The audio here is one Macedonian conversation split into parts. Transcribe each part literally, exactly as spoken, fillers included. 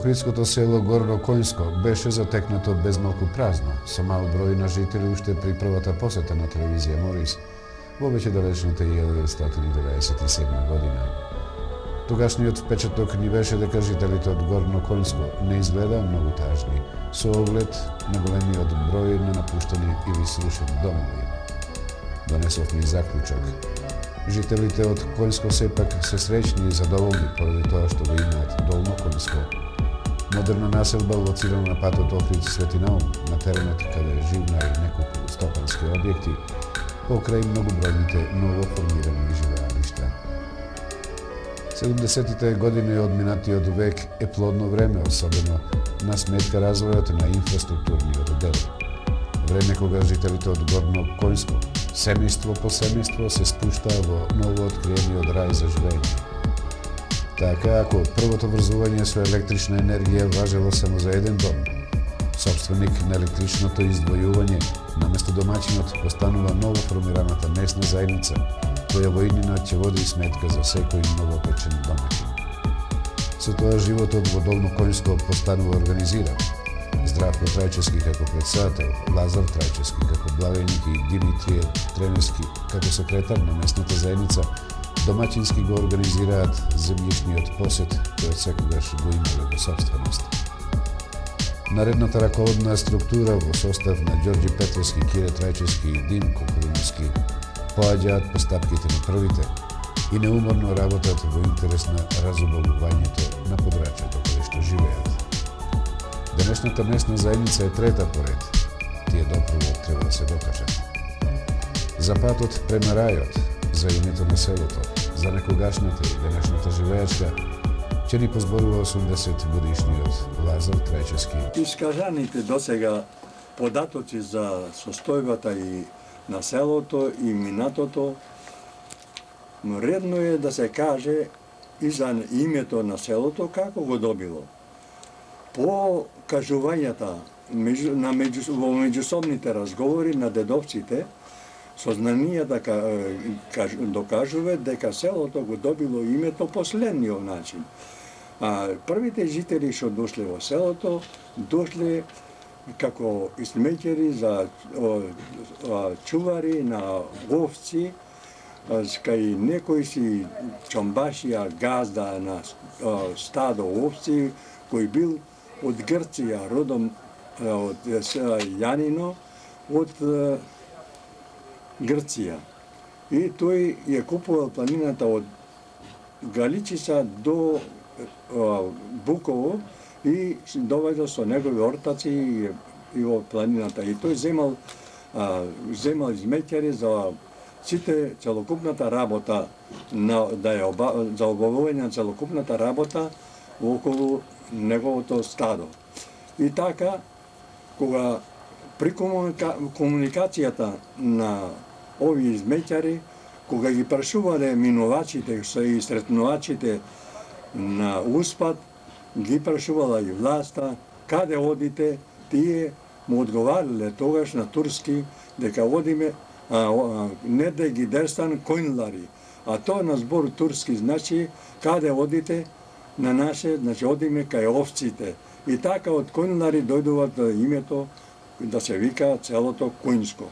Охридското село Горно Коњско беше затекнато безмалку празно, со мал број на жители уште при првата посета на телевизија Морис во веќе далечната илјада деветстотини деветдесет и седма година. Тогашниот впечаток ни беше дека жителите од Горно Коњско не изгледа многу тажни, со оглед на големиот број на напуштени или срушени домови. Донесовме и заклучок. Жителите од Коњско сепак се среќни и задоволни поради тоа што го имаат Долно Коњско, модерна населба лоцирана на патот Охрид Свети Наум, на теренот каде живна и неколку стопански објекти, покрај многобројните новоформирани живеалишта. седумдесетите години од минатиот век е плодно време, особено на сметка развојот на инфраструктурниот дел. Време кога жителите од Горно Коњско, семејство по семејство, се спуштаа во новооткриениот рај за живење. Така, ако првото врзување со електрична енергија важело само за еден дом, собственик на електричното издвојување, наместо домаќинот постанува новоформираната месна заедница, која во иднинот ќе води сметка за секој новопечен домаќин. Со тоа животот во Долно Коњско постанува организиран. Здравко Трајчевски како председател, Лазар Трајчевски како благајник и Димитрije Треневски како секретар на месната заедница домаќински го организираат земјишниот посет, кој секогаш го имале во собственост. Наредната раководна структура во состав на Ѓорѓи Петровски, Кире Трајчевски и Димко Кулиновски поаѓаат постапките на првите и неуморно работат во интерес на разубавувањето на подрачјето каде што живеат. Денешната месна заедница е трета поред. Тие допрво треба да се докажат. За патот према рајот, за името на селото, за некогашната и денешната живеачка, ќе ни позборува осумдесет годишниот Лазар Трајчевски. Искажаните досега податоци за состојбата и на селото и минатото, но редно е да се каже и за името на селото како го добило. По кажувањата на меѓу, во меѓусобните разговори на дедовците, сознанијата докажува дека селото го добило името последниот начин. А првите жители што дошле во селото, дошле како измеќери за чувари на овци, кај некои си чомбашија газда на стадо овци, кој бил од Грција, родом од Јанино, од Грција. И тој ја купувал планината од Галичица до Буково и доведел со негови ортаци и во планината. И тој земал, земал измеќари за сите целокупната работа, на, да ја оба, за обавување на целокупната работа околу неговото стадо. И така, кога при комуника... комуникацијата на овие измеќари, кога ги прашувале минувачите и сретнувачите на Успад, ги прашувала и власта, каде одите, тие му одговарале тогаш на турски дека одиме а, а, не да ги дерстан којнлари, а тоа на збор турски значи каде одите на наше, значи одиме кај овците. И така од којнлари дојдуваат името да се вика целото Коњско.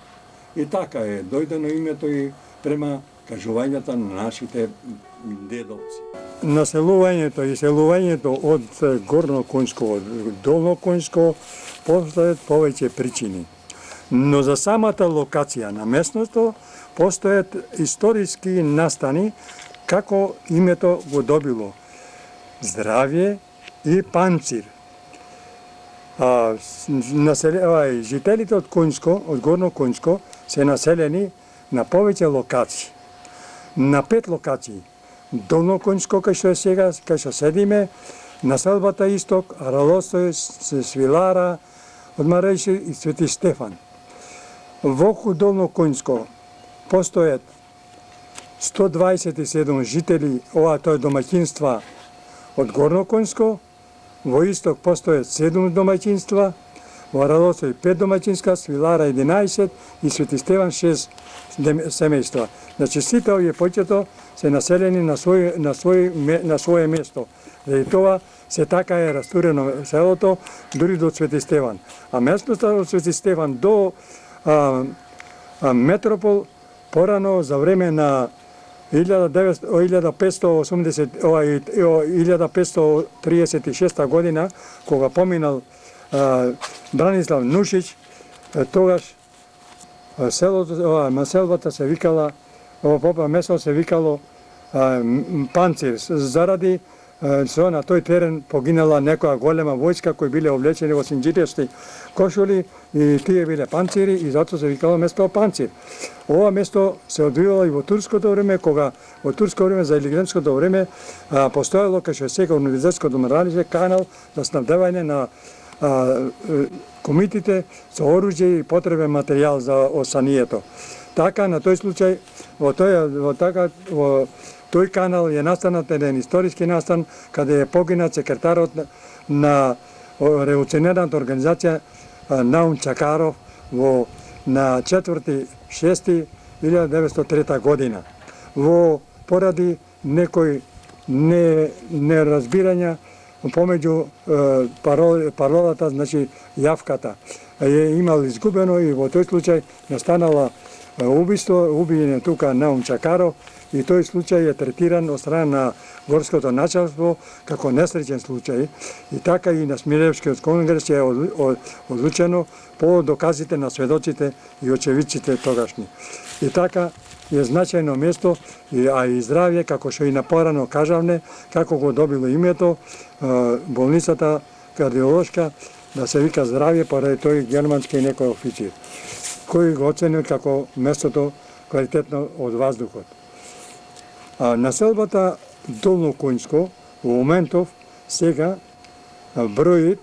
И така е дојдено името и према кажувањата на нашите дедовци. Населувањето и селувањето од Горно Коњско, од Долно Коњско постојат повеќе причини. Но за самата локација на местното постојат историски настани како името го добило здравје и панцир. А, насел... жителите од Коњско, од Горно Коњско се населени на повеќе локации. На пет локации. Долно Коњско, кај што е сега, кај што седиме, населбата Исток, Аралостој, Свилара, од Марејши и Свети Стефан. Во Долно Коњско постојат сто дваесет и седум жители, ова тоа е домаќинства од Горно Коњско, во Исток постојат седум домаќинства, во Радосој пет домаќинска, Свилара единаесет и Свети Стеван шест семејства. Значи сите овие поќето се населени на свој на свој на свое место. И тоа се така е растурено селото дури до Свети Стеван. А местноста од Свети Стеван до а, а, Метропол порано за време на илјада петстотини и осумдесет, илјада петстотини и триесет и шеста година, кога поминал а, Бранислав Нушич, тогаш селото, населбата се викала, ова место се викало а, Панцир, заради со на тој терен погинала некоја голема војска кои биле облечени во синџиревски кошули и тие биле панцири и затоа се викало место Панцир. Ова место се одвивало и во турското време, кога во турско време за илигенското време а, постоело кај што сега универзитетското моралище канал за снабдевање на а, комитите со оружје и потребен материјал за осанието. Така на тој случај во тој во така во тој канал е настанат еден историски настан каде е погинат секретарот на револуционерната организација Наум Чакаров во на четврти шести илјада деветстотини и трета година. Во поради некои не неразбирања помеѓу парол, паролата, значи јавката е имал изгубено и во тој случај настанала убиство, убиен тука Наум Чакаров и тој случај е третиран од страна на горското началство како несреќен случај и така и на Смилевскиот конгрес е одлучено по доказите на сведоците и очевидците тогашни. И така е значајно место, а и здравје, како што и напорано кажавне, како го добило името, болницата кардиолошка, да се вика здравје, поради тој германски и некој официр, кој го оценил како местото квалитетно од воздухот. А населбата Долно Коњско во моментов сега бројит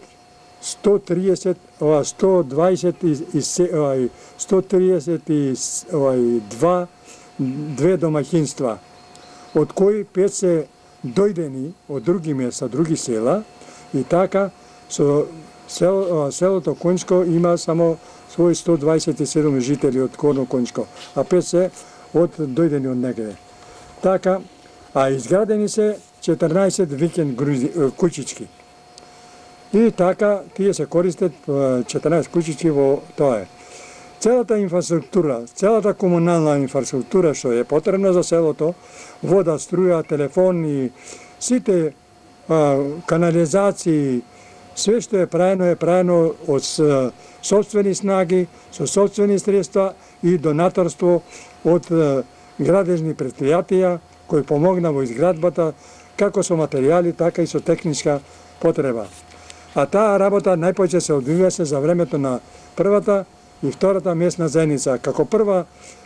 сто триесет, сто дваесет и сто триесет и два две домаќинства, од кои пет се дојдени од други места, други села, и така со сел, селото Коњско има само своји сто дваесет и седум жители од Горно Коњско, а пет се од дојдени од негде. Така, а изградени се четрнаесет викенд куќички. И така, тие се користат четрнаесет куќички во тоа е. Целата инфраструктура, целата комунална инфраструктура што е потребна за селото, вода, струја, телефон и сите а, канализации, све што е правено е правено од собствени снаги, со собствени средства и донаторство од а, градежни предпријатија кои помогна во изградбата како со материјали, така и со техничка потреба. А таа работа најпоќе се одвиваше за времето на првата и втората местна заедница. Како прва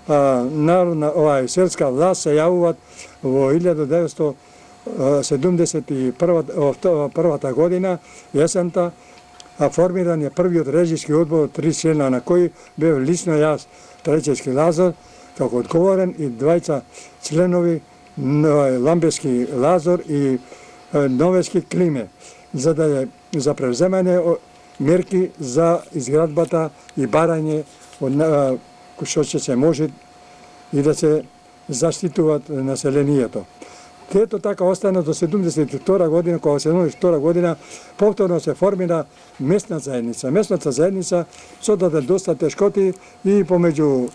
а, народна овај селска власт се јавуваат во илјада деветстотини седумдесет и првата година, јесента, а формиран е првиот режиски одбор од три члена на кој бев лично јас, Трајчевски Лазар, како одговорен и двајца членови Ламбески Лазар и Новески Климе, за да е за превземање мерки за изградбата и барање од што ќе се може и да се заштитуваат населението. Ето така остана до седумдесет и втора година, кога седумдесет и втора година повторно се формира местна заедница. Местната заедница содаде доста тешкоти и помеѓу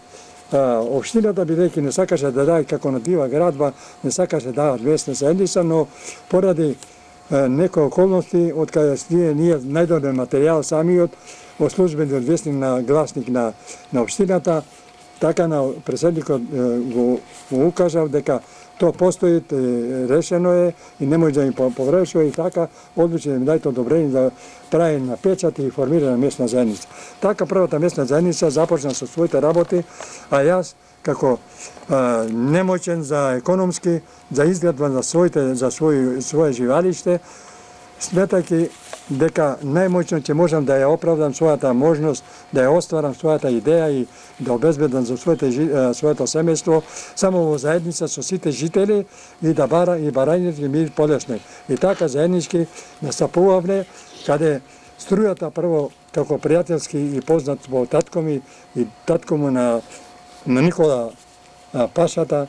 општината, бидејќи не сакаше да даде како на дива градба, не сакаше да дават местна заедница, но поради некои околности, од каде ние, ние најдоде материјал самиот, во службениот весник на гласник на, на општината, така на преседникот го, го укажав дека тоа постои, решено е и не може да им поврешува и така одлучи да ми дајте одобрение да прави на печат и формира местна заедница. Така првата местна заедница започна со своите работи, а јас како а, немоćен за економски, за изградба за своите за свој свое живалиште, сметајќи дека најмоćно ќе можам да ја оправдам својата можност, да ја остварам својата идеја и да обезбедам за своите своето семејство само во заедница со сите жители и да бара и барањето ми полесне. И така заеднички настапувавме, каде Струјата прво како пријателски и познат во татко ми и татко му на, на Никола а, Пашата,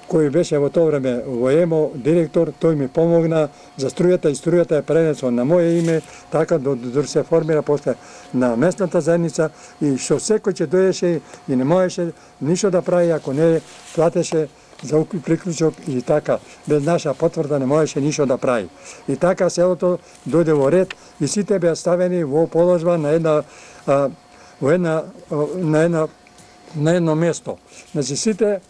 кој беше во тоа време во ЕМО директор, тој ми помогна за струјата и струјата е пренесла на моје име, така да, да се формира после на местната заедница и што секој ќе дојдеше и не можеше ништо да прави ако не платеше за приклучок и така, без наша потврда не можеше ништо да прави. И така селото дојде во ред и сите беа ставени во положба на една а, во една на една на едно место. Значи сите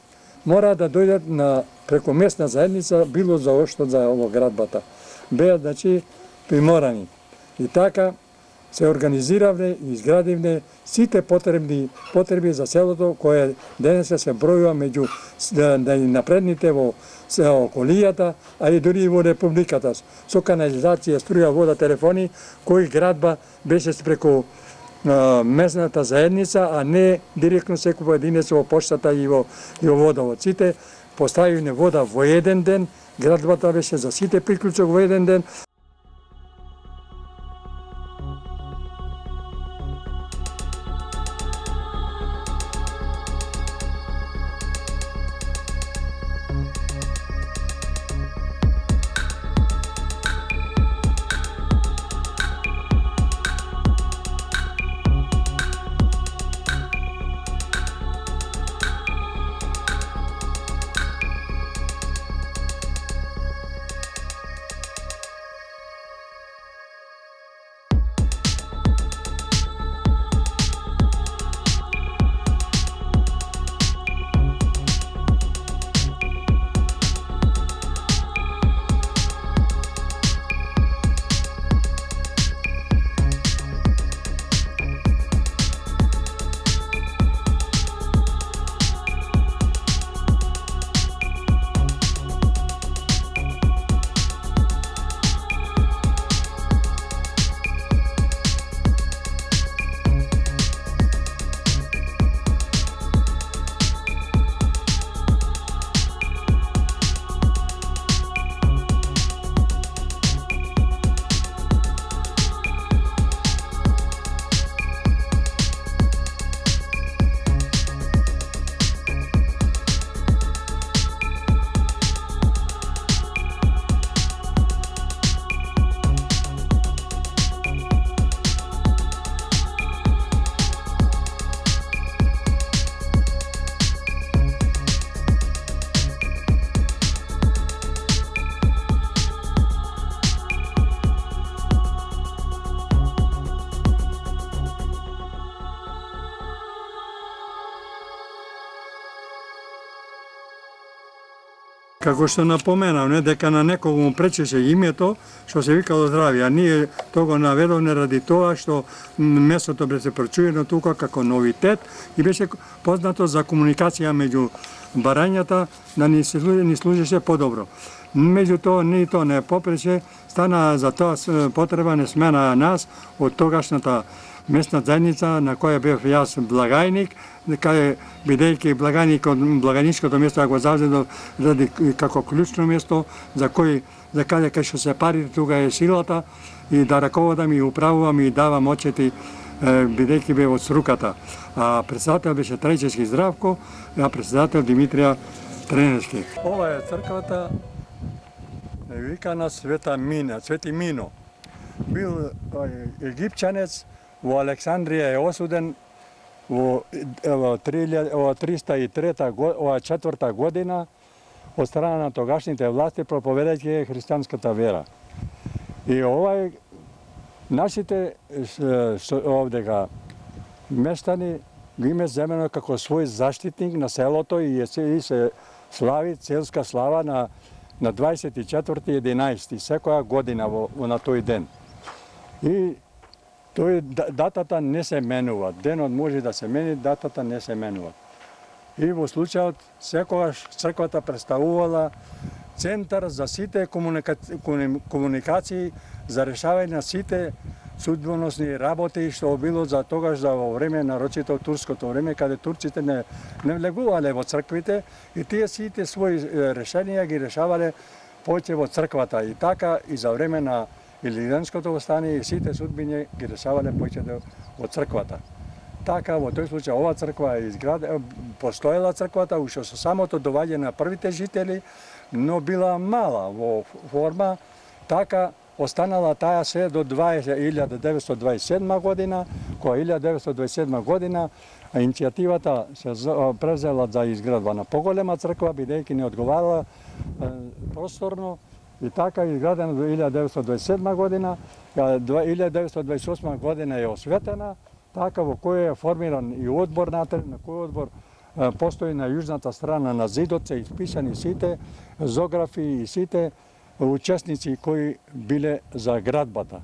мора да дојдат на преку местна заедница, било за оштот за ово градбата. Беа, значи, приморани. И така се организиравме и изградивме сите потребни потреби за селото, кое денес се бројува меѓу да, да и напредните во околијата, а и дури и во републиката. Со канализација, струја, вода, телефони, кој градба беше преку местната заедница, а не директно секој поединец во поштата и во, и во водовод. Сите поставивме вода во еден ден, градбата беше за сите приклучок во еден ден. Како што напоменав, не, дека на некого му пречеше името, што се викало здравје, а ние тоа го наведовме ради тоа што местото беше прочуено тука како новитет и беше познато за комуникација меѓу барањата, да ни, се, ни служеше подобро. Меѓутоа, ни тоа не попрече, стана за тоа потреба не смена нас од тогашната местна заедница на која бев јас благајник, каде бидејќи благајник од благајничкото место го завзедов ради како клучно место за кој за каде кај што се пари тука е силата и да раководам и управувам и давам очети бидејќи бев од струката. А председател беше Трајчевски Здравко, а председател Димитрија Тренески. Ова е црквата викана Света Мина, Свети Мино. Бил египчанец, во Александрија е осуден во триста и трета ова четврта година од страна на тогашните власти проповедајќи христијанската вера. И овај нашите овдека местани го име земено како свој заштитник на селото и се слави целска слава на на дваесет и четврти единаесети секоја година во, во на тој ден. И тој датата не се менува. Денот може да се мени, датата не се менува. И во случајот секогаш црквата представувала центар за сите комуника... комуникации за решавање на сите судбоносни работи што било за тогаш за во време нарочито турското време каде турците не не влегувале во црквите и тие сите своји решенија ги решавале повеќе во црквата и така и за време на Илирянското востание и сите судбини ги решавале појчето од црквата. Така, во тој случај, ова црква е изградена, постоела црквата, уште со самото доваѓање на првите жители, но била мала во форма, така останала таа се до илјада деветстотини дваесет и седма година, која илјада деветстотини дваесет и седма година иницијативата се презела за изградба на поголема црква, бидејќи не одговарала просторно, и така изградена до илјада деветстотини дваесет и седма година, илјада деветстотини дваесет и осма година е осветена, така во кој е формиран и одбор натре, на кој одбор постои на јужната страна на зидот, се исписани сите зографи и сите учесници кои биле за градбата.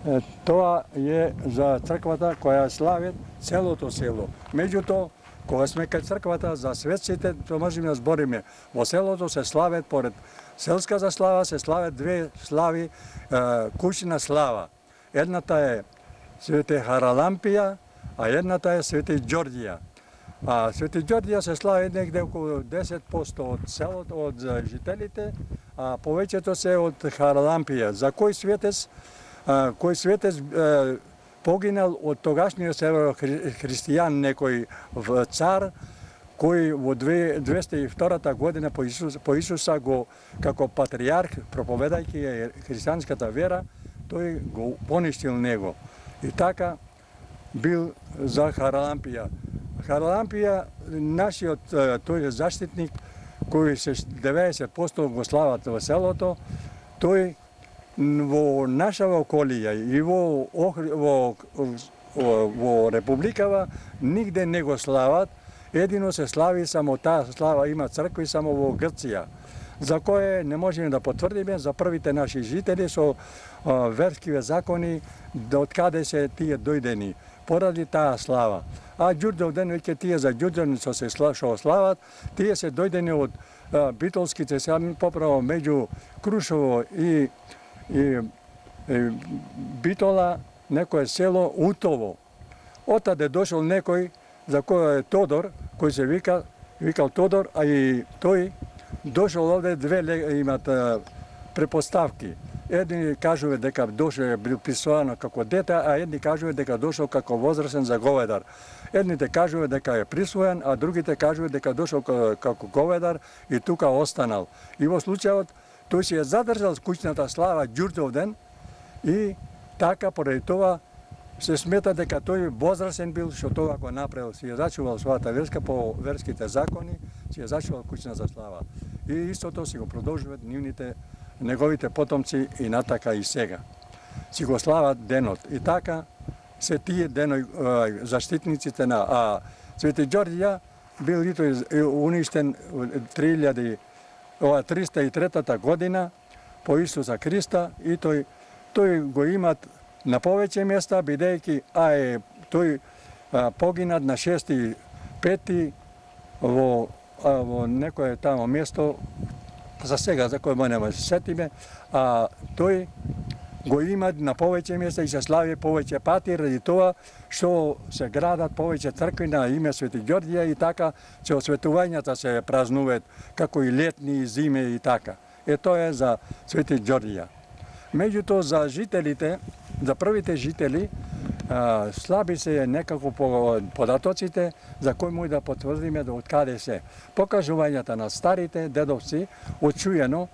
Е, тоа е за црквата која слави целото село. Меѓутоа, кога сме кај црквата за светците, тоа можеме да збориме. Во селото се слават, поред селската слава, се слават две слави, е, кучна слава. Едната е Свети Харалампија, а едната е Свети Ѓорѓија. А Свети Ѓорѓија се слави негде околу десет проценти од селото, од жителите, а повеќето се од Харалампија. За кој светец, а, кој светец а, погинал од тогашниот северохристијан некој цар, кој во двеста и втора година по Исуса, по Исуса го, како патриарх, проповедајќи христијанската вера, тој го поништил него. И така бил за Харалампија. Харалампија, нашиот тој заштитник, кој се деветдесет проценти го слават во селото, тој во наша околија и во, во, во, во Републикава нигде не го слават, едино се слави само таа слава, има цркви само во Грција, за кое не можеме да потврдиме за првите наши жители со а, верскиве закони, од каде се тие дојдени, поради таа слава. А Ѓурѓовден, веќе тие за Ѓурѓовден што се шо слават, тие се дојдени од а, битолските, сега поправо меѓу Крушево и, и, и Битола, некое село Утово. Отаде дошол некој за кој е Тодор, кој се вика, викал Тодор, а и тој дошол овде, две имат а, препоставки. Едни кажува дека дошол бил присвоено како дете, а едни кажува дека дошол како возрасен заговедар. Едните кажува дека е присвоен, а другите кажува дека дошол како говедар и тука останал. И во случајот тој си е задржал куќната слава Ѓурѓовден и така поради тоа се смета дека тој возрасен бил, што тоа го направил, си е зачувал својата верска по верските закони, си е зачувал куќната слава. И истото си го продолжуваат нивните неговите потомци и натака и сега. Си го слават денот. И така се тие деној заштитниците на а Свети Ѓорѓија бил и тој уништен триста и трета година по Исуса Христа и тој тој го имат на повеќе места, бидејќи а е тој а, погинат на шести пети во а, во некое тамо место, за сега за кој ме нема се сетиме, а тој го имат на повеќе места и се слави повеќе пати ради тоа што се градат повеќе цркви на име Свети Ѓорѓија и така че осветувањата се празнуваат како и летни и зиме и така. Е тоа е за Свети Ѓорѓија. Меѓутоа за жителите, за првите жители, а, слаби се некако по податоците за кој може да потврдиме да од каде се. Покажувањата на старите дедовци очуено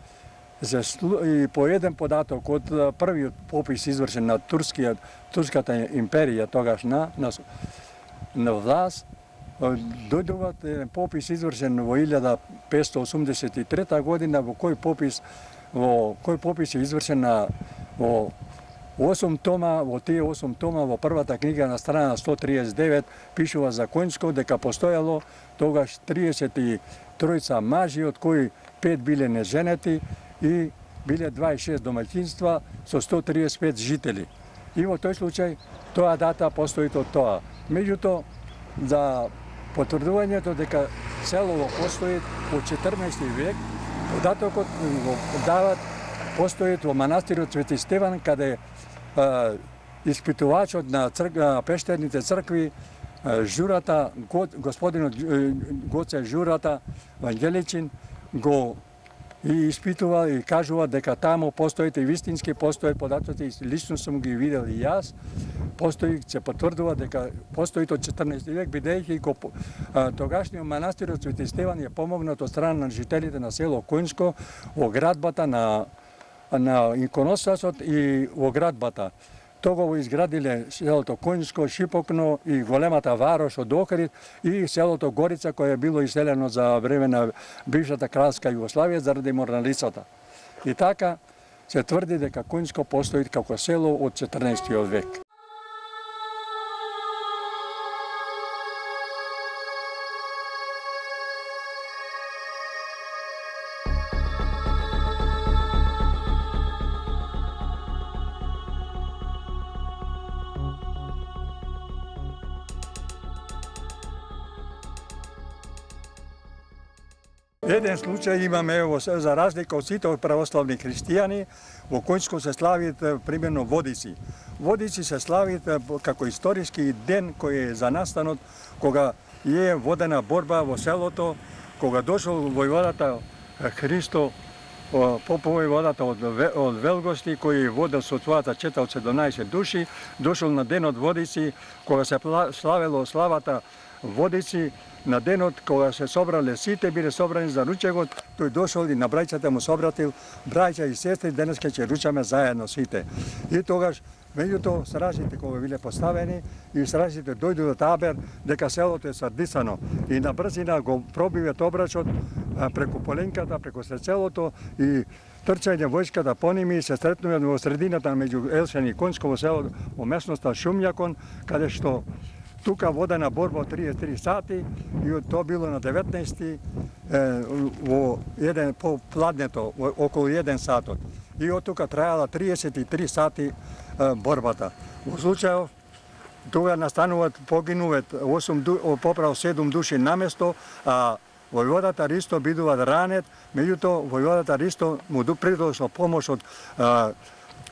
и по еден податок од првиот попис извршен на турскиот турската империја тогаш на на, на власт, дојдуват еден попис извршен во илјада петстотини осумдесет и трета година, во кој попис во кој попис е извршен на во осум тома, во тие осум тома во првата книга на страна сто триесет и девет пишува за Коњско дека постоело тогаш триесет и тројца мажи, од кои пет биле неженети и биле дваесет и шест домаќинства со сто триесет и пет жители. И во тој случај тоа дата постои од тоа. Меѓутоа, за потврдувањето дека селово постои во четрнаести век, податокот го дават постои во манастирот Свети Стеван, каде а, испитувачот на црк, пештерните цркви а, Журата, господинот Гоце Журата Вангеличин го и испитува и кажува дека таму постоите вистински, постојат податоци, лично сум ги видел и јас, постои, се потврдува дека постои од четрнаести век, бидејќи го тогашниот манастир од Свети Стеван е помогнат од страна на жителите на село Коњско во градбата на на иконостасот и во градбата. Тога го изградиле селото Коњско, Шипокно и големата Варош од Охрид и селото Горица, кое е било иселено за време на бившата кралска Југославија заради морналицата. И така се тврди дека Коњско постои како село од четрнаестиот век. Еден случај имаме, ево, за разлика од сите православни христијани, во Коњско се славит примерно Водици. Водици се славит како историски ден кој е за настанот кога е водена борба во селото, кога дошол војводата Христо, попојводата од, од Велгости, кој водел со својата чета од седумнаесет души, дошол на денот Водици, кога се славело славата Водици, на денот кога се собрале сите, биле собрани за ручегот, тој дошол и на брајцата му собратил: браќа и сестри, денеска ќе ручаме заедно сите. И тогаш, меѓутоа, стражите кога биле поставени и стражите дојду до табер дека селото е сардисано и на брзина го пробиват обрачот преку Поленката, преку селото и трчање војската по ними и се сретнуваат во средината меѓу Елшан и Коњско во село, во местноста Шумјакон, каде што тука водена борба од триесет и три сати и тоа било на деветнаести во еден по пладнето околу еден сатот. И од тука трајала триесет и три сати борбата. Во случајов тога настануваат, погинуваат осум поправо седум души на место, а војводата Ристо бидува ранет, меѓутоа војводата Ристо му придошла помош од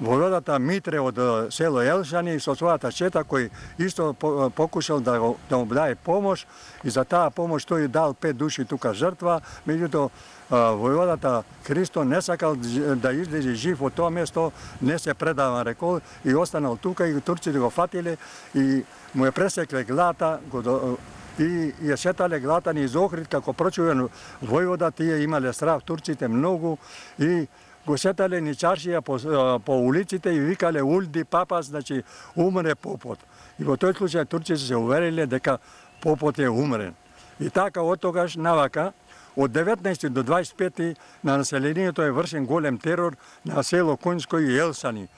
војводата Митре од село Елшани со својата чета, кој исто покушал да, да му даде помош и за таа помош тој дал пет души тука жртва, меѓутоа војводата Христо не сакал да излезе жив од тоа место, не се предава, рекол, и останал тука и турците го фатиле и му е пресекле глата, го и ја сетале глата низ Охрид, како прочувен војвода, тие имале страв турците многу и го сетале ни чаршија по, по улиците и викале: улди папа, значи умре попот. И во тој случај турците се увериле дека попот е умрен. И така од тогаш навака, од деветнаести до дваесет и пети на населението е вршен голем терор на село Коњско и Елшани.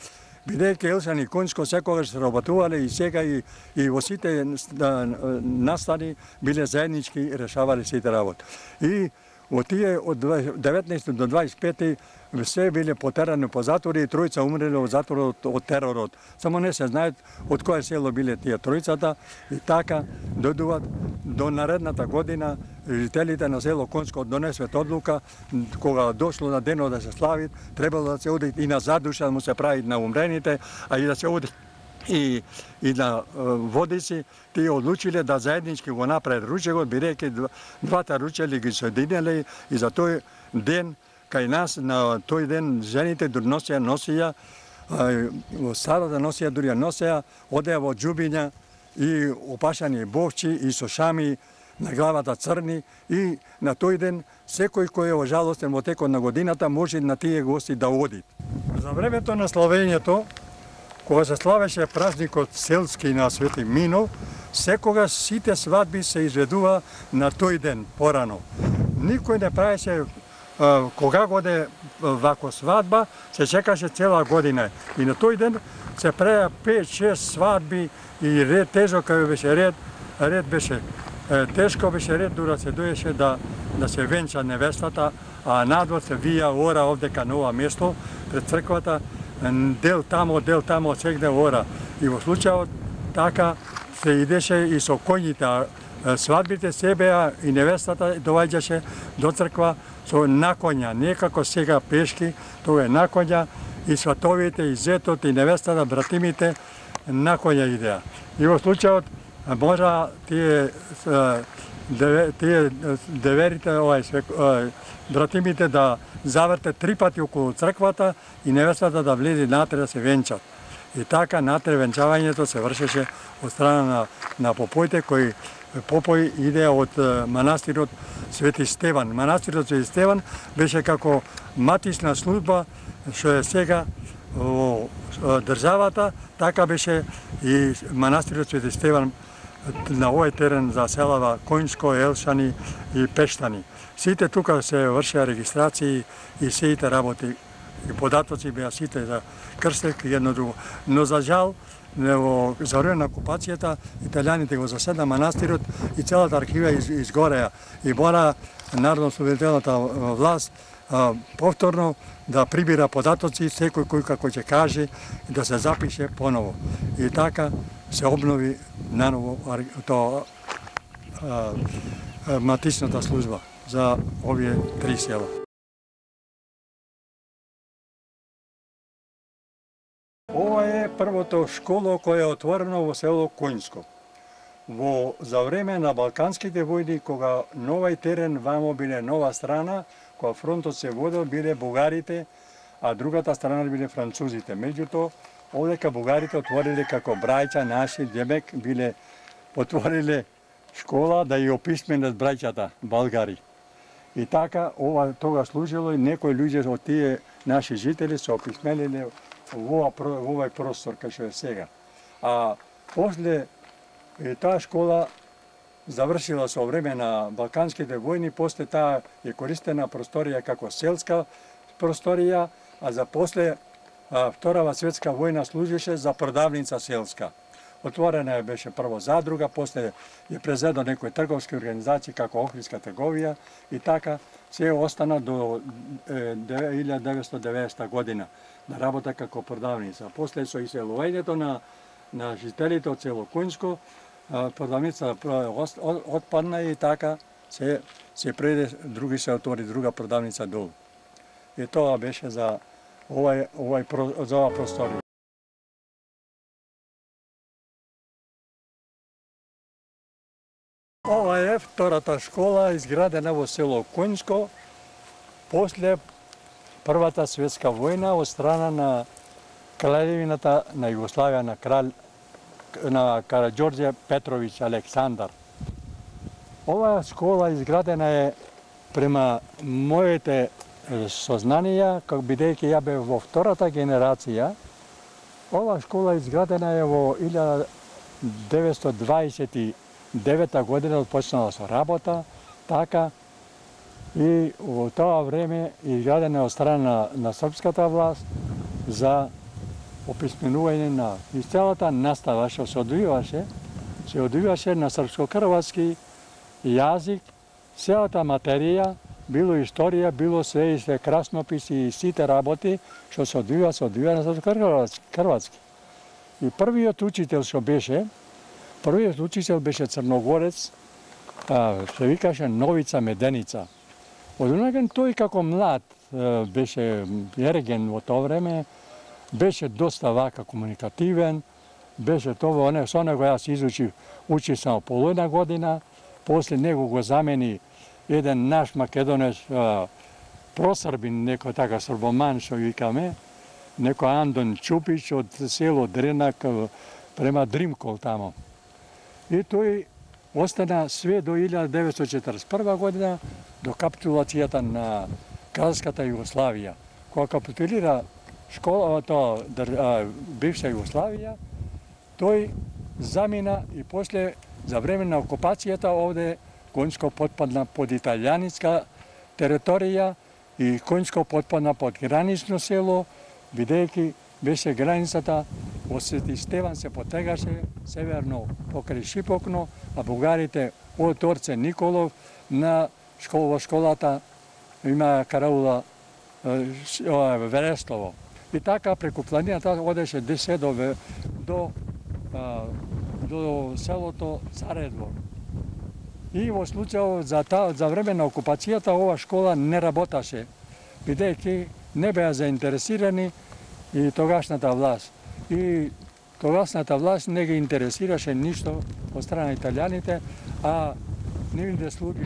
Бидејќи Елшани и Коњско секогаш се работувале и сега и, и во сите настани биле заеднички решавале сите работи. И од тие од деветнаести до дваесет и пети се биле потерани по затвори и тројца умреле во затворот од теророт. Само не се знаат од кое село биле тие тројцата и така дојдуваат до наредната година жителите на село Коњско донесвет одлука кога дошло на денот да се слави, требало да се оди и на задуша да му се прави на умрените, а и да се оди и, и на Водици, тие одлучиле да заеднички го направат ручегот, бидејќи двата ручели ги соединеле и за тој ден кај нас на тој ден жените носеа носија, во старата носија дури носеа, одеа во џубиња и опашани бовчи и со шами на главата црни и на тој ден секој кој е ожалостен во текот на годината може на тие гости да оди. За времето на славењето, кога се славеше празникот селски на Свети Мино, секогаш сите свадби се изведува на тој ден порано. Никој не правеше кога годе вако свадба, се чекаше цела година. И на тој ден се правеа пет-шест свадби и ред тежок кај беше ред, ред беше тешко беше ред дура се доеше да да се венча невестата, а надвор се вија ора овдека на ова место пред црквата, дел тамо, дел тамо, сегде ора. И во случајот така се идеше и со коњите. Свадбите се беа и невестата доаѓаше до црква со на коња, не како сега пешки, тоа е на коња и сватовите, и зетот, и невестата, братимите на коња идеа. И во случајот можа тие тие деверите, овај братимите да заврте три пати околу црквата и невестата да влезе натре да се венчат. И така натре венчавањето се вршеше од страна на, на попоите кои попој иде од манастирот Свети Стеван. Манастирот Свети Стеван беше како матична служба што е сега во државата, така беше и манастирот Свети Стеван на овој терен за селава Коњско, Елшани и Пештани. Сите тука се вршеа регистрации и сите работи и податоци беа сите за крстек и едно друго. Но за жал, во за време на окупацијата, италијаните го заседна манастирот и целата архива из, изгореа. И мора народно-освободителната власт а, повторно да прибира податоци, секој кој како ќе каже и да се запише поново. И така се обнови наново тоа матичната служба за овие три села. Ова е првото школо кое е отворено во село Коњско. Во за време на балканските војни, кога новај терен вамо биле нова страна, кога фронтот се водел, биле бугарите, а другата страна биле французите. Меѓутоа, овдека бугарите отвориле како брајча наши, демек биле отвориле школа да ја описменат брајчата българи. И така ова тога служило и некои луѓе од тие наши жители се описмениле во овој простор кај што е сега. А после и таа школа завршила со време на балканските војни, после таа е користена просторија како селска просторија, а за после а, Вторава светска војна служеше за продавница селска. Отворена е беше прво задруга, после е презедо некои трговски организации како Охридска трговија и така се остана до илјада деветстотини и деветдесета година да работа како продавница. После со иселувањето на на жителите од село Коњско, продавница отпадна и така се се преде други се отвори друга продавница долу. И тоа беше за овај овај за оваа просторија. Ова е втората школа изградена во село Коњско после Првата светска војна од страна на кралевината на Југославија на крал на Караѓорđe Петровиќ Александар. Оваа школа изградена е према моите сознанија, како бидејќи ја бев во втората генерација. Оваа школа изградена е во илјада деветстотини дваесет и девета година, почнала со работа, така и во тоа време изградена од страна на, на српската власт за описменување на и целата настава што се одвиваше, се одвиваше на српско-хрватски јазик, целата материја, било историја, било све и се краснописи и сите работи што се одвива, се одвива на српско-хрватски. И првиот учител што беше, првиот учител беше црногорец, а, се викаше Новица Меденица. Од онаген тој како млад беше ерген во тоа време, беше доста вака комуникативен, беше тоа, со него јас изучив, учи само половина година, после него го замени еден наш македонец, просрбин, некој така србоман што викаме, некој Андон Чупич од село Дренак према Дримкол тамо. И тој остана све до илјада деветстотини четрдесет и прва година, до капитулацијата на Кралската Југославија. Кога капитулира школа, тоа бивша Југославија, тој замина и после за време на окупацијата овде Коњско потпадна под италијанска територија и Коњско потпадна под гранично село, бидејќи беше границата од Свети Стеван се потегаше северно покрај Шипокно, а бугарите од Орце Николов на школа, школата има караула Верестово. И така преку планината одеше десе до, до, до селото Царедвор. И во случај за, та, за време на окупацијата ова школа не работаше, бидејќи не беа заинтересирани и тогашната власт. И тогашната власт не ги интересираше ништо од страна италијаните, а нивните слуги,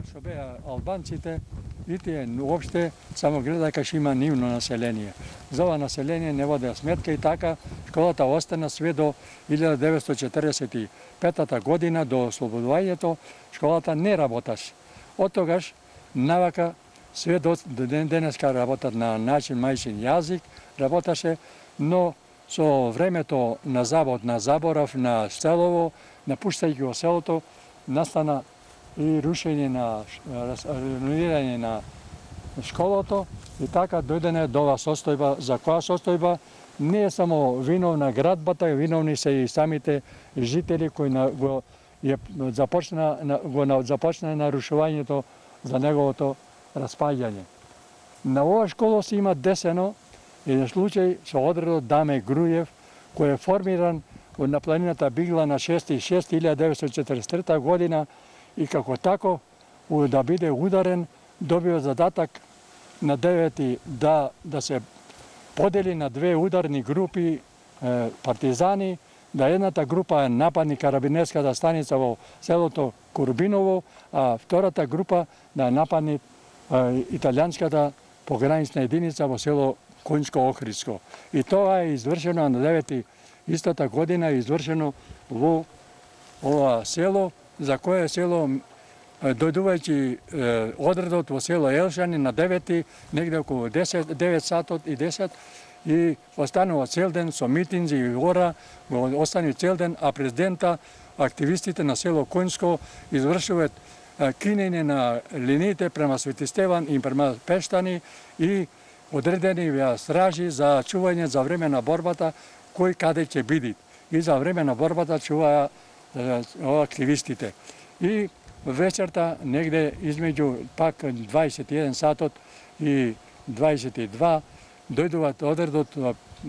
што беа албанците, и тие уопште само гледаја кај има нивно население. За ова население не водеа сметка и така школата остана све до илјада деветстотини четрдесет и петата година, до ослободувањето, школата не работаше. Од тогаш навака све до ден денеска работат на начин мајчин јазик, работаше, но со времето на завод, на заборав, на селово, напуштајќи го селото, настана и рушење на реновирање на школото и така дојдене до ова состојба, за која состојба не е само виновна градбата, виновни се и самите жители кои на, го е започна го започна нарушувањето за неговото распаѓање. На ова школа се има десено еден случај со одредот Даме Грујев, кој е формиран на планината Бигла на шести јуни илјада деветстотини четрдесет и трета година и како тако да биде ударен, добива задатак на девети да, да се подели на две ударни групи е, партизани, да едната група нападни карабинерската станица во селото Курбиново, а втората група да нападни е, италијанската погранична единица во село Конјско-Охридско. И тоа е извршено на девети истата година, е извршено во ова село, за кое село дојдувајќи одредот во село Елшани на девети, негде околу десет, девет сатот и десет, и останува цел ден со митинзи и гора, остани цел ден, а президента, активистите на село Конјско извршуваат кинење на линиите према Свети Стеван и према Пештани и одредени беа стражи за чување за време на борбата, кој каде ќе биде. И за време на борбата чуваа активистите. И вечерта, негде измеѓу пак дваесет и еден сатот и дваесет и два, дојдуваат одредот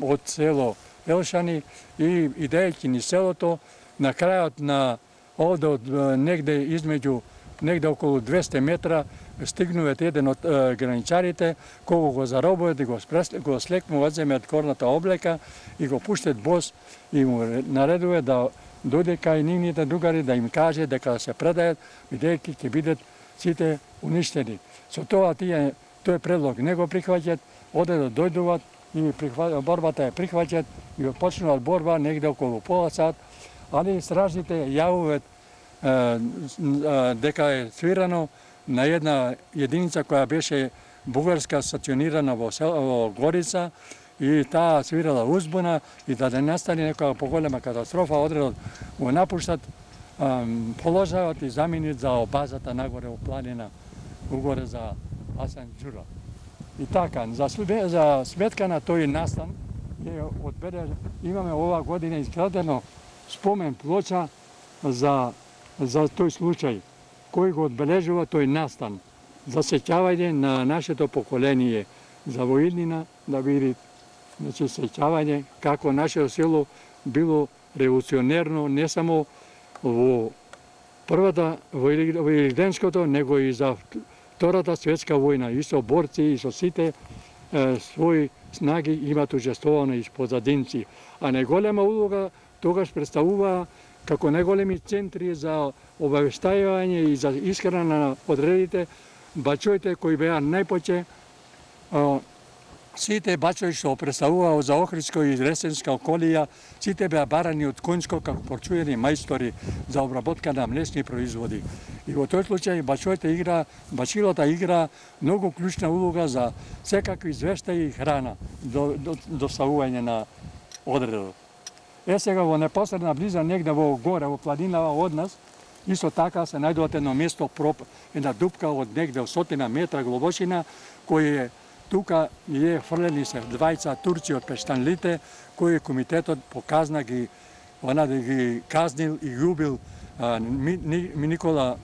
од село Елшани и идејќи ни селото, на крајот на овде од негде измеѓу негде околу двесте метра стигнуват еден од е, граничарите, кого го заробуват и го, го слекнуваат, земеат корната облека и го пуштат бос и му наредува да дојде кај нивните другари да им каже дека се предајат, бидејќи ќе бидат сите уништени. Со тоа тие тој предлог не го прихваќат, оде да дојдуваат и прихва, борбата е прихваќат и почнуваат борба негде околу пола сат, али стражите јавуваат дека е свирано на една единица која беше бугарска стационирана во, во Горица и таа свирала узбуна и да не настане некоја поголема катастрофа, одредот го напуштат, положават и заменит за базата нагоре во планина, угоре за Асан Џура. И така, за, за сметка на тој настан, е одбере, имаме ова година изградено спомен плоча за, за тој случај, кој го одбележува тој настан, за сеќавање на нашето поколение, за воиднина да биде, значи, сеќавање како нашето село било револуционерно не само во првата, во Илирденското, него и за Втората светска војна, и со борци, и со сите е, своји снаги имат учествувано и позадинци. А најголема улога тогаш представува како најголеми центри за обавештајување и за исхрана на одредите бачоите кои беа најпоче, сите бачои што представуваа за Охридско и Ресенска околија, сите беа барани од Конјско како почуени мајстори за обработка на млечни производи. И во тој случај бачоите игра, бачилата игра многу клучна улога за секакви извештаи и храна до, до, доставување на одредот. Е сега во непосредна близа негде во горе, во планинава од нас, исто така се најдуват едно место, проп, една дупка од негде стотина метра глобочина, кој е тука е фрлени се двајца турци од Пештанлите, кои комитетот показна ги, она да ги казнил и убил а, ми, ми, Никола,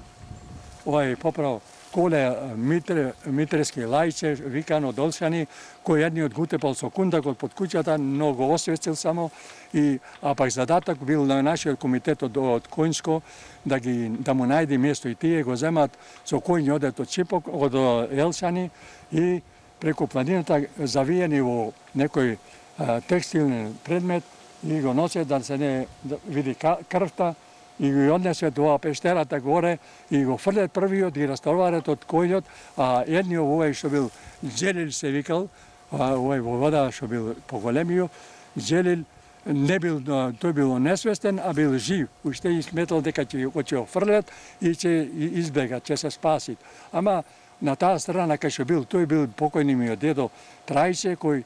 овај поправо, Коле Митре, Митрески Лајче, викан од Олшани, кој едниот го утепал со кундакот под куќата, но го освестил само, и, а пак задаток бил на нашиот комитет од, од Конјско да, ги, да му најди место и тие го земат со кој одат од Чипок, од Елшани и преку планината завиени во некој а, текстилен предмет и го носат да се не да види крвта и го однесе до пештерата горе и го фрлет првиот и реставрарат од којот, а едниот овој што бил Джелил се викал, овој во вода што бил поголемиот, Джелил не бил, тој бил несвестен, а бил жив. Уште и сметал дека ќе ќе го фрлет и ќе избега, ќе се спаси. Ама на таа страна кај што бил, тој бил покојниот дедо Трајче, кој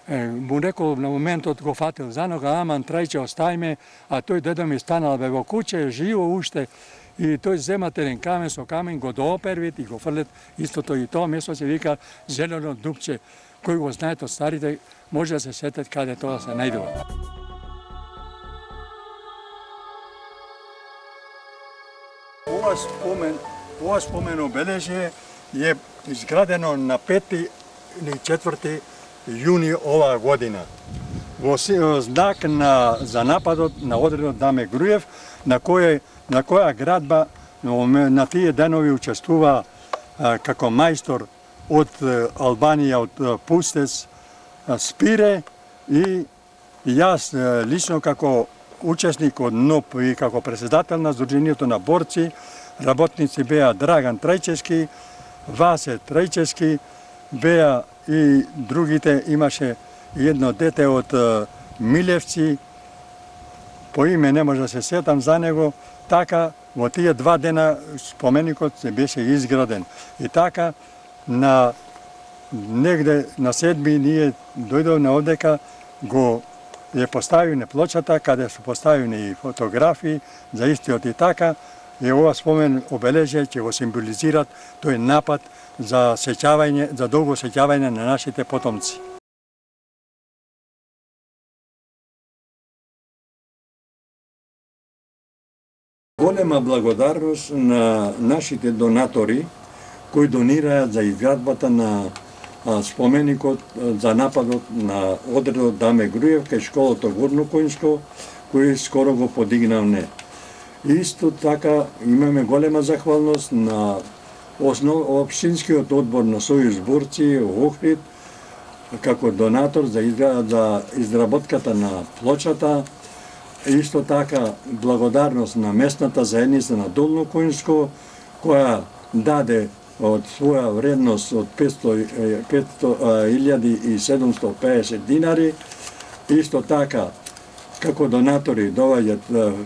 му рекол на моментот го фатил за нога, аман Трајче остајме, а тој дедо ми станал бе во куќе, живо уште, и тој зема терен камен со камен, го доопервит и го фрлет истото, и тоа место се вика Зелено дупче, кој го знаат од старите, може да се сетат каде тоа се најдува. Ова спомен, ова спомен обележје е изградено на пети или четврти јуни оваа година во знак на за нападот на одредот Даме Груев, на кој на која градба на тие денови учествува а, како мајстор од Албанија, од Пустес, Спире, и јас лично како учесник од НОП и како председател на Сдруженијето на борци, работници беа Драган Трајчевски, Васе Трајчевски, беа и другите, имаше едно дете од Милевци, по име не може да се сетам за него, така во тие два дена споменикот се беше изграден. И така на негде на седми ние дојдовме овдека, го е поставиме плочата, каде се поставени и фотографии за истиот, и така е ова спомен обележје ќе го символизират тој напад за сеќавање, за долго сеќавање на нашите потомци. Голема благодарност на нашите донатори кои донираат за изградбата на споменикот за нападот на одредот Даме Груев кај школото Горно Коњско, кој скоро го подигнавме. Исто така имаме голема захвалност на основ, општинскиот одбор на Сојуз борци Охрид како донатор за, изгра... за изработката на плочата. Исто така благодарност на местната заедница на Долно Коњско, која даде од своја вредност од петстотини и седумстотини и педесет динари. Исто така, како донатори доаѓаат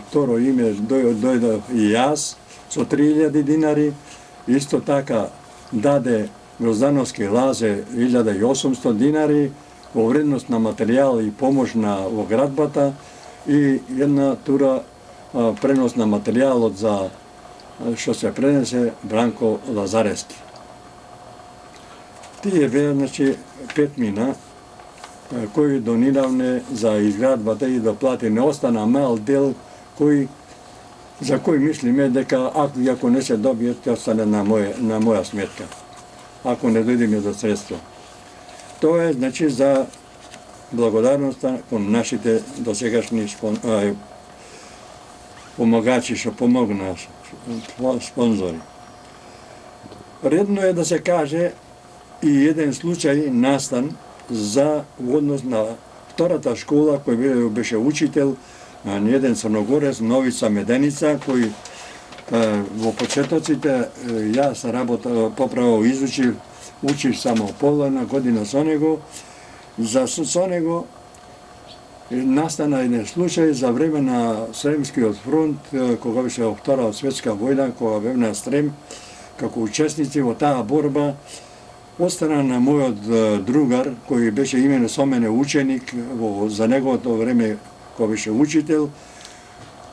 второ име, дојдов и јас со три илјади динари. Исто така даде Гроздановски Лазе илјада и осумстотини динари во вредност на материјал и помош на во градбата, и една тура а, пренос на материјалот за што се пренесе Бранко Лазарески. Тие беа, значи, пет мина кои дониравме за изградбата и да плати. Не остана мал дел кој за кој мислиме дека ако, ако не се добие, ќе остане на моја, на моја сметка, ако не дојдеме до средства. Тоа е, значи, за благодарноста кон нашите досегашни спон... а, помагачи што помогнаа, спонзори. Редно е да се каже и еден случај настан за однос на втората школа кој беше учител на еден црногорец, Новица Меденица, кој е, во почетоците јас работа поправо изучив, учив само половина година со него. За со него настана еден случај за време на Сремскиот фронт, кога беше Втора светска војна, кога бев на Срем, како учесници во таа борба, од страна на мојот другар, кој беше имене со мене ученик во, за неговото време, кој беше учител,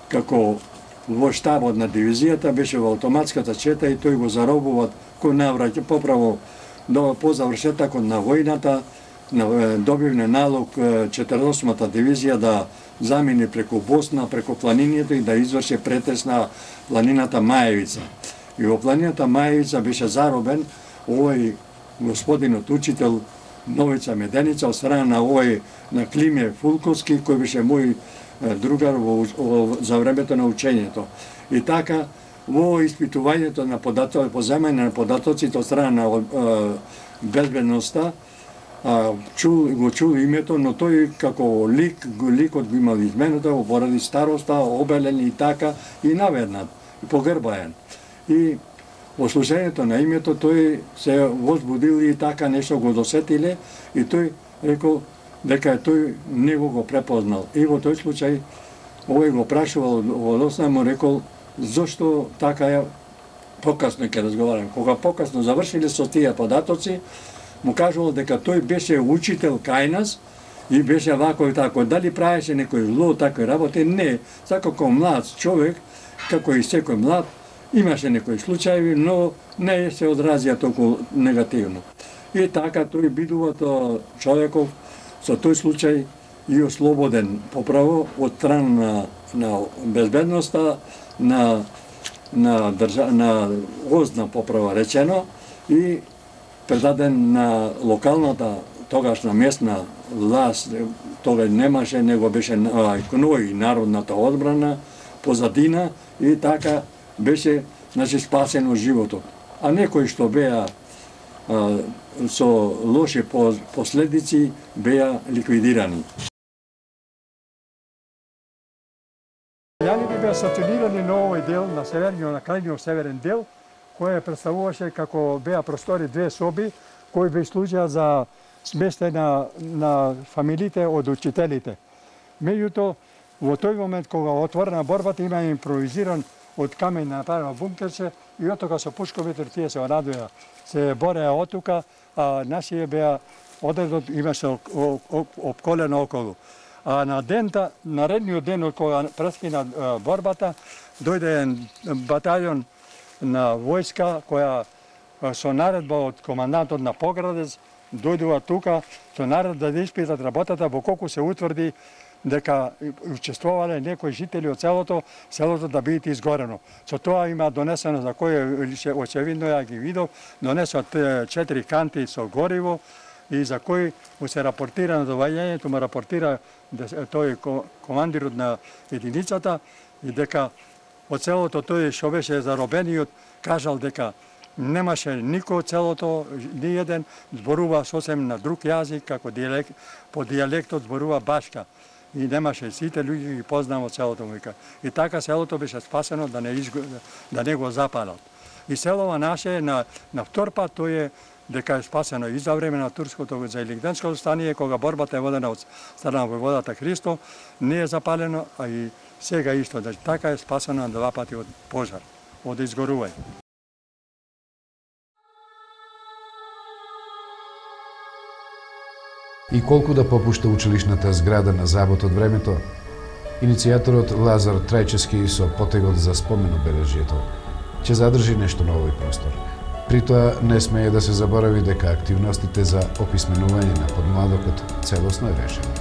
како во штабот на дивизијата, беше во автоматската чета и тој го заробуват кој навраќа поправо до по завршетокот на војната, добивне налог четиридесет и осмата дивизија да замини преку Босна, преку планините и да изврши претес на планината Мајевица. И во планината Мајевица беше заробен овој господинот учител Новица Меденица од страна на овој на Климе Фулковски, кој беше мој другар во, во, за времето на учењето. И така, во испитувањето на податоци, поземање на податоците од страна на безбедноста, а, чул, го чул името, но тој како лик, ликот го имал изменето, поради староста, обелен и така, и наведнат, и погрбаен. И во слушањето на името тој се возбудил и така нешто го досетиле, и тој рекол дека тој него го препознал. И во тој случај, овој го прашувал во Лосна, му рекол, зошто така е, покасно ќе разговарам. Кога покасно завршиле со тие податоци, му кажувал дека тој беше учител кај нас и беше вако и тако. Дали правеше некој зло, такој работи? Не. Како млад човек, како и секој млад, имаше некои случаи, но не се одразија толку негативно. И така тој бидува тоа човеков со тој случај и ослободен поправо од страна на, на безбедноста, на на држа, на гозна поправа речено, и предаден на локалната, тогашна местна власт. Тога немаше, него беше КНОИ, Народната одбрана, позадина, и така беше, значи, спасено животот. А некои што беа а, со лоши последици беа ликвидирани. Јани би беа стационирани на овој дел, на северниот, на крајниот северен дел, кој представуваше како беа простори две соби, кои би служеа за сместење на, на фамилите од учителите. Меѓутоа, во тој момент кога отворена борбата, има импровизиран од камењ направено бункерче, и оттука со пушковите тие се радуја, се бореа оттука, а нашите беа одредот имаше обколено околу. А на дента, наредниот ден од кога прескина борбата, дојде батаљон на војска која со наредба од командантот на Поградец дојдува тука со наредба да испитат работата, во колку се утврди дека учествувале некои жители од селото, селото да биде изгорено. Со тоа има донесено, за кој очевидно ја ги видов, донесот четири канти со гориво, и за кој му се рапортира на доваѓањето, му рапортира тој командирот на единицата, и дека од селото тој што беше заробениот кажал дека немаше никој од селото, ни еден, зборува сосем на друг јазик, како диалект, по диалектот зборува башка. И немаше, сите луѓе ги познава од селото му. И така селото беше спасено да не, изго, да не го запалат. И селова наше на, на втор пат тој е дека е спасено и за време на турското за Илинденското стание, кога борбата е водена од страна на војводата Христо, не е запалено, а и сега исто, да така е спасено на два пати од пожар, од изгорување. И колку да попушта училишната зграда на забот од времето, иницијаторот Лазар Трајчевски со потегот за спомен обележјето ќе задржи нешто на овој простор. При тоа не смее да се заборави дека активностите за описменување на подмладокот целосно е решено.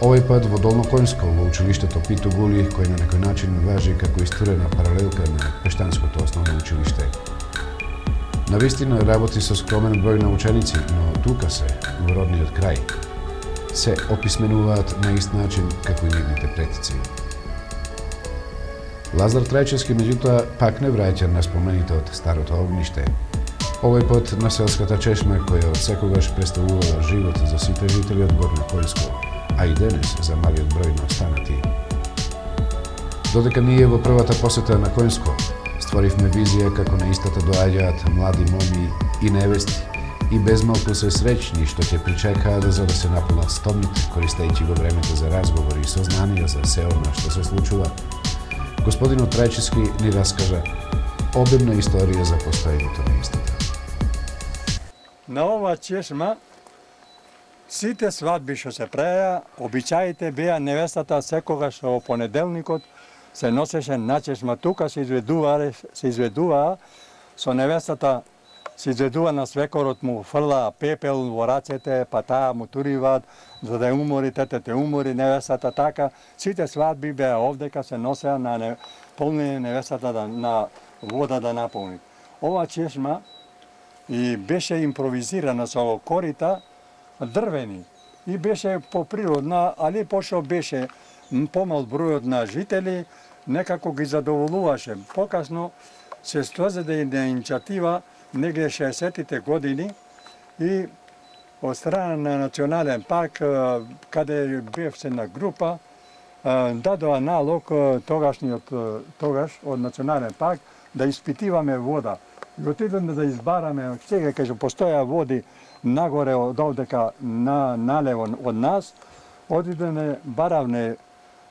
Овој пат во Долно Коњско, во училиштето Питу Гули, кој на некој начин важи како истурена паралелка на Пештанското основно училиште. Навистина работи со скромен број на ученици, но тука се, во родниот крај, се описменуваат на ист начин како и нивните предци. Лазар Трајчевски, меѓутоа, пак не враќа на спомените од старото огниште. Овој пат на селската чешма, која од секогаш представувала живот за сите жители од Горно Коњско, а и денес за малиот број на останати. Додека ние во првата посета на Коњско створивме визија како на истата доаѓаат млади моми и невести, и безмалку се среќни што ќе причекаат за да се наполнат стомните, користејќи го времето за разговори и сознанија за се она што се случува, господинот Трајчевски ни раскажа обемна историја за постоењето на истата. На ова чешма сите свадби што се правеа, обичаите беа невестата секогаш во понеделникот се носеше на чешма, тука се изведува, се изведува со невестата, се изведува на свекорот, му фрла пепел во рацете, па таа му туриваат за да умори, тетете умори невестата, така. Сите свадби беа овдека, се носеа на не, полни невестата да, на вода да наполни. Ова чешма и беше импровизирана со корита дрвени и беше поприродна, али пошто беше помал бројот на жители, некако ги задоволуваше. Покасно се стозеде иницијатива негде шеесеттите години и од страна на национален парк, каде бев се на група, дадоа налог тогашниот тогаш од национален парк да испитиваме вода. И отидеме да избараме, сега кај постоја води нагоре од овдека на налево од нас, отидеме баравне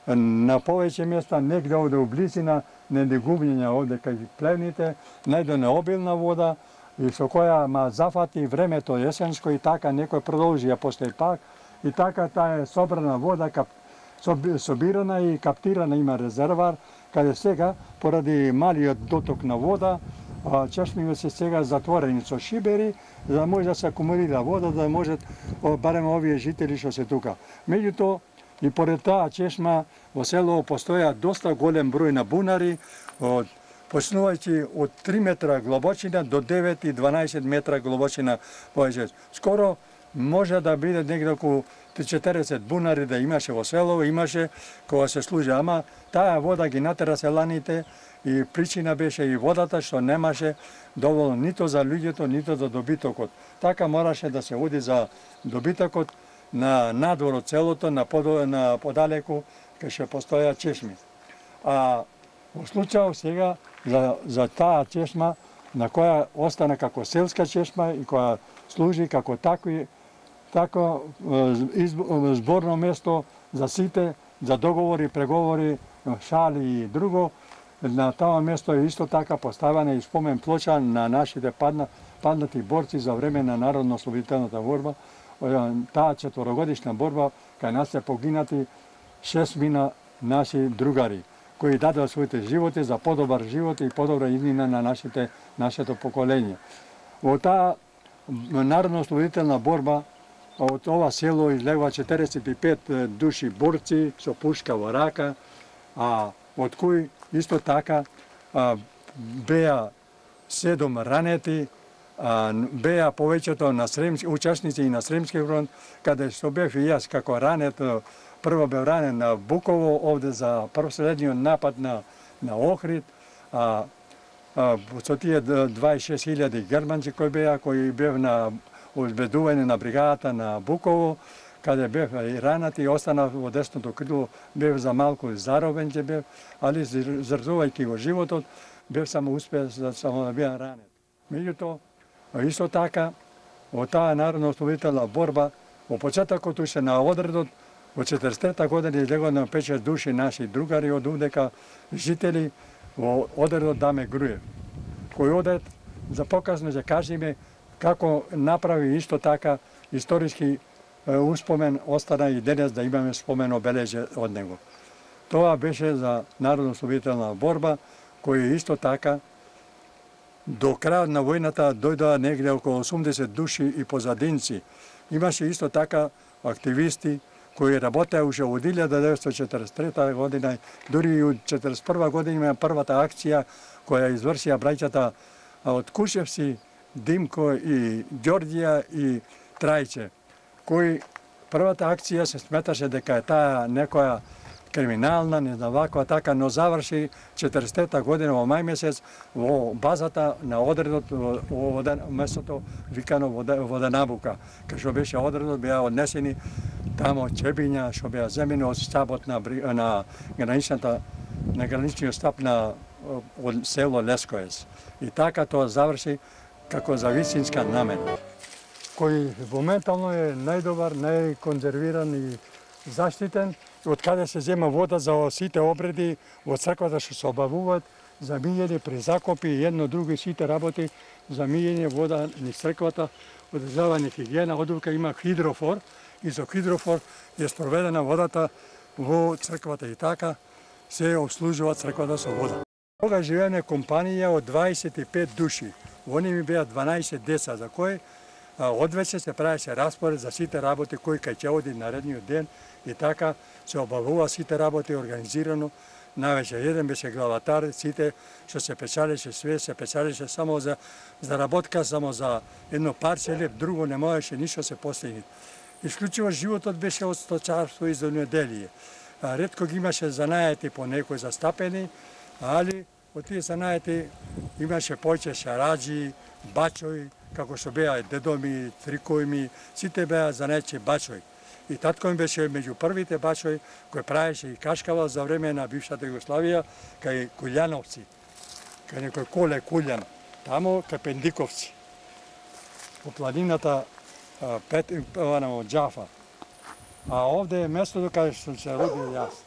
на повеќе места, негде овде у близина, не губњења овде кај плевните, најдене обилна вода, и со која ма зафати времето есенско и така некој продолжи ја постои пак, и така таа е собрана вода, кап, собирана и каптирана, има резервар, каде сега, поради малиот доток на вода, чешмите се сега затворени со шибери, за да може да се акумулира вода, да може барем овие жители што се тука. Меѓутоа, и поред таа чешма во село постоја доста голем број на бунари, од почнувајќи од три метра глобочина до девет и дванаесет метра глобочина повеќе. Скоро може да биде негде околу четириесет бунари да имаше во село, имаше кога се служи, ама таа вода ги натера селаните и причина беше и водата што немаше доволно нито за луѓето, нито за добитокот. Така мораше да се оди за добитокот на надвор од селото, на, подо, на подалеку, кај што постоја чешми. А во случај сега за, за таа чешма, на која остана како селска чешма и која служи како такви, тако зборно место за сите, за договори, преговори, шали и друго. На тоа место е исто така поставена и спомен плоча на нашите падна, паднати борци за време на народно-ослободителната борба. Таа четворогодишна борба, кај нас се погинати шест мина наши другари, кои дадоа своите животи за подобар живот и подобра иднина на нашите, нашето поколение. Во таа народно-ослободителна борба од ова село излегува четириесет и пет души борци со пушка во рака, а од кои исто така а, беа седум ранети, а, беа повеќето на сремски учесници и на Сремски фронт, каде што бев и јас како ранет, прво бев ранен на Буково, овде за последниот напад на, на Охрид, а, а, со тие дваесет и шест илјади германци кои беа, кои бев на обезбедување на бригадата на Буково, каде бев и ранат и останав во десното крило, бев за малку заробен ќе бев, али жртвувајќи го животот, бев само успеа за само да беа ранет. Меѓутоа, исто така, во таа народно-ослободителна борба, во почетокот уште на одредот, во четиристотина година излегува на пет-шест души наши другари од овдека жители во одредот Даме Груев, кој одед за показно ќе кажеме како направи исто така историски успомен, остана и денес да имаме спомен обележе од него. Тоа беше за народно-ослободителна борба, кој исто така до крајот на војната дојдоа негде околу осумдесет души и позадинци. Имаше исто така активисти кои работеа уште од илјада деветстотини четиридесет и трета година, дури и од четиристотини и прва година има првата акција која извршија браќата од Кушевци, Димко и Ѓорѓија и Трајче, кои првата акција се сметаше дека е таа некоја криминална, не знам ваква така, но заврши четиристотина година во мај месец во базата на одредот во местото викано Воденабука, кај што беше одредот, беа однесени тамо чебиња што беа земени од штабот на на граничната на граничниот штаб на од село Лескоец. И така тоа заврши како за вистинска намена, кој моментално е најдобар, најконзервиран и заштитен, од каде се зема вода за сите обреди во црквата што се обавуваат, за мијење при закопи и едно друго сите работи, за мијење вода низ црквата, одржавање хигиена, одука има хидрофор и со хидрофор е спроведена водата во црквата и така се обслужува црквата со вода. Тога живееме компанија од дваесет и пет души. Во нив беа дванаесет деца, за кои одвече се правеше распоред за сите работи кои кај ќе оди наредниот ден и така се обавува сите работи организирано. Навече еден беше главатар, сите што се печалеше све, се печалеше само за заработка, само за едно парче леп, друго не можеше ништо се постигне. Исклучиво животот беше од сточарство и земјоделие. Ретко ги имаше занаети по некои застапени, али од тие занаети имаше повеќе шараджи, бачои како што беа дедо ми, трикови ми, сите беа занече бачој. И татко ми беше меѓу првите бачој кој правеше и кашкавал за време на бившата Југославија кај Куљановци, кај некој Коле Куљан, тамо кај Пендиковци, по планината Пет, од Џафа. А овде е местото каде што се родил јас.